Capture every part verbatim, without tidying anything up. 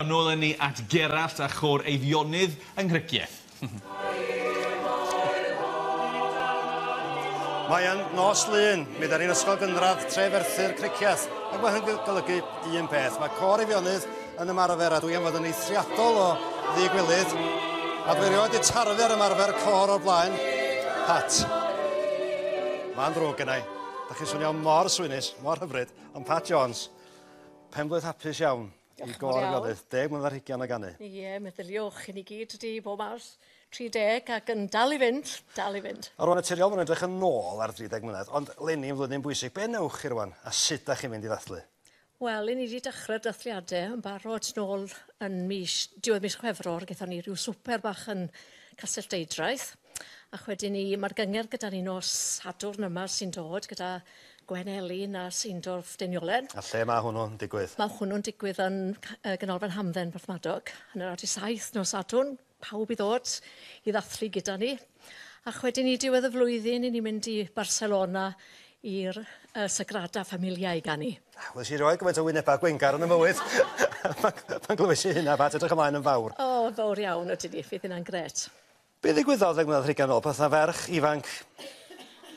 Nôl â ni at Gerallt a chôr Eifionydd yng Nghricieth. Mae yn nos Lun, mi 'dan ni'n ysgol gynradd Treferthyr Cricieth, ac mae hyn golygu un peth. Mae côr Eifionydd yn ymarfer, a dwi am fod yn eithriadol o ddigwilydd, a dwi erioed 'di tarfu ar ymarfer côr o'r blaen. Pat, mae'n ddrwg gennai. Da chi'n swnio mor swynus, mor hyfryd, ond Pat Jones, penblwydd hapus iawn i gôr Eifionydd, deg mlynedd ar hugain o ganu. Ie, meddyliwch, i ni gyd wedi bob mas tri deg ac yn dal i fynd, dal i fynd. A rwan naturiol, ma'n edrych yn ôl ar dri deg mlynedd, ond leni yn flwyddyn bwysig. Be newch chi rwan, a sut da chi'n mynd i ddathlu? Wel, i ni wedi dechrau'r dathliadau yn barod nôl yn mis, diwedd mis Chwefror, gaethon ni rhyw swper bach yn Castell Deudraeth, ac wedyn ni, mae'r gyngerdd gyda ni nos Sadwrn yma sy'n dod gyda Gwen Elin a Seindorf Deiniolen. A lle mae hwnnw'n digwydd? Mae hwnnw'n digwydd yn Ganolfan Hamdden Porthmadog, yn yr awr saith nos Sadwrn, pawb i ddod i ddathlu gyda ni. A wedyn ni diwedd y flwyddyn, i ni'n mynd i Barcelona i'r uh, Sagrada Familia i ganu. Wel, si rioed gymaint o wynebau gwengar yn y mywyd. Pan glywes i hynna, Pat, edrych ymlaen yn fawr. O, fawr iawn ydyn ni, fydd hynna'n grêt. Be ddigwyddodd ddeg mlynedd ar hugain ôl, pan ferch ifanc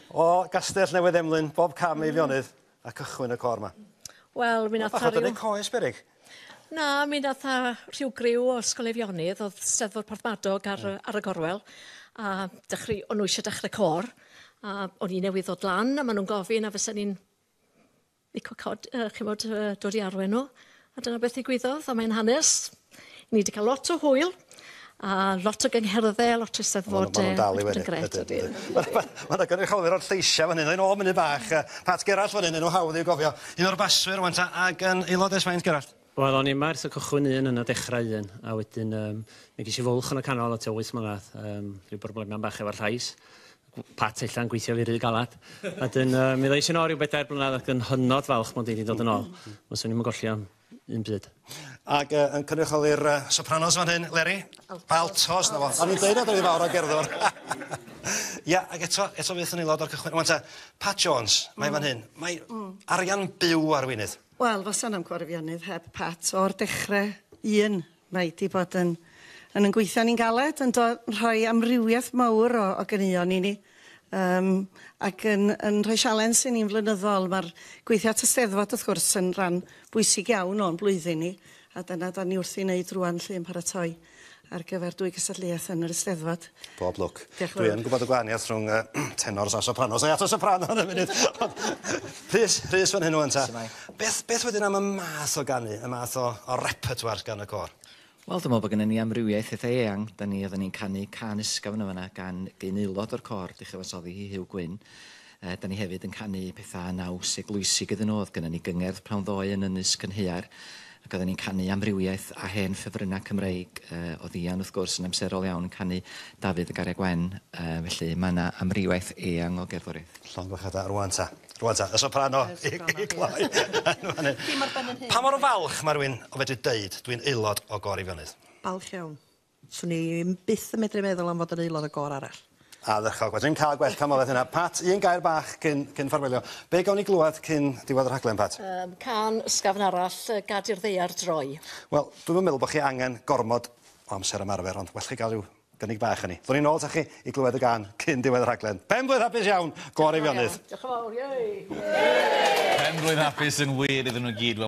o Gastell Newydd Emlyn, bob cam Eifionydd, a cychwyn y côr yma? Wel, mi nath Bach o dynnu coes, beryg? Na, mi nath rhyw griw o Ysgol Eifionydd, oedd Steddfod Porthmadog ar, mm. ar y gorwel, a dechrau, o'n nhw eisiau dechrau côr, a o'n i newydd ddod lan, a maen nhw'n gofyn a fysen ni'n licio cod, uh, chimod, uh, dod i arwain nhw. A dyna beth ddigwyddodd, a mae'n hanes. Ni wedi cael lot o hwyl, a lot o gyngherddau, lot o eisteddfodau. Maen nhw'n dal i wenu. Mae yna gynrychiolwyr o'r lleisiau fan hyn, yn ôl munud bach. Pat Gerallt fan hyn, enw hawdd i'w gofio. Un o'r baswyr rwan ta, ac yn aelod ers faint, Gerallt? Wel, o'n i yma ers y cychwyn un yn y dechrau un, a wedyn um, mi ges i fwlch yn y canol o tua wyth mlynedd, um, rhyw broblemau bach efo'r llais. Pat ella'n gweithio fi rhy galad. A dyn, uh, mi ddois i nôl ryw bedair blynedd ac yn hynod falch mod i wedi dod yn ôl. Fyswn i'm yn golli am un byd. Ac uh, yn cynrychioli'r uh, sopranos fan hyn, Leri? Altos, na fo. O'n i'n deud nad oedd hi fawr o gerddor. Ia, ac eto, eto fydd yn aelod o'r cychwyn. Wan ta, Pat Jones, mae fan hyn, mae arian byw ar wynedd. Wel, fysa na'm côr Eifionydd heb Pat o'r dechrau un. Mae di bod yn, yn, yn gweithio ni'n galed, yn rhoi amrywiaeth mawr o, o ganeuon i ni. Um, ac yn, yn rhoi sialens i ni'n flynyddol. Mae'r gweithio at y Steddfod, wrth gwrs, yn rhan bwysig iawn o'n blwyddyn ni. A dyna da ni wrth i wneud rwan lle yn paratoi ar gyfer dwy gystadleuaeth yn yr Eisteddfod. Bob lwc. Dwi yn gwybod y gwahaniaeth rhwng uh, tenors a sopranos. Ai at y soprano yn y munud. Rhys, Rhys fan hyn o'n ta. Beth, beth wedyn am y math o ganu, y math o, o repertoire gan y côr? Wel, dwi'n meddwl bod gennym ni amrywiaeth eitha eang. Da ni, oedden ni'n canu cân ysgafn yn fan'na gan gyn aelod o'r côr, di chyfansoddi hi Huw Gwyn. E, da ni hefyd yn canu pethau naws eglwysig iddyn nhw. Oedd gennym ni gyngerdd prawn ddoe yn Ynys Cynhaear, ac oedden ni'n canu amrywiaeth a hen ffefrynnau Cymreig. E, oedd Ian, wrth gwrs, yn amserol iawn yn canu Dafydd y Garreg Wen. E, felly mae yna amrywiaeth eang o gerddoriaeth. Llongyfarchiadau, rwan ta. Rwan ta, y soprano i, i gloi. Pa mor falch mae rhywun o fedru deud dwi'n aelod o gôr Eifionydd? Balch iawn. Swn i byth yn medru meddwl am fod yn aelod o gôr arall. Ardderchog. Wel, dwi'n cael gwell canmoliaeth hynna. Pat, un gair bach cyn, cyn ffarwelio. Be gawn ni glywed cyn diwedd y rhaglen, Pat? Um, cân ysgafn arall, Gad i'r Ddaear Droi. Wel, dwi'm yn meddwl bod chi angen gormod o amser ymarfer, ond well chi gael rhyw gynnig bach yn ni. Ddwn ni'n ôl ta chi i glywed y gân cyn diwedd y rhaglen. Pen-blwydd hapus iawn, Gôr Eifionydd. Diolch yn fawr, iei! Pen-blwydd hapus yn wir iddyn nhw gyd.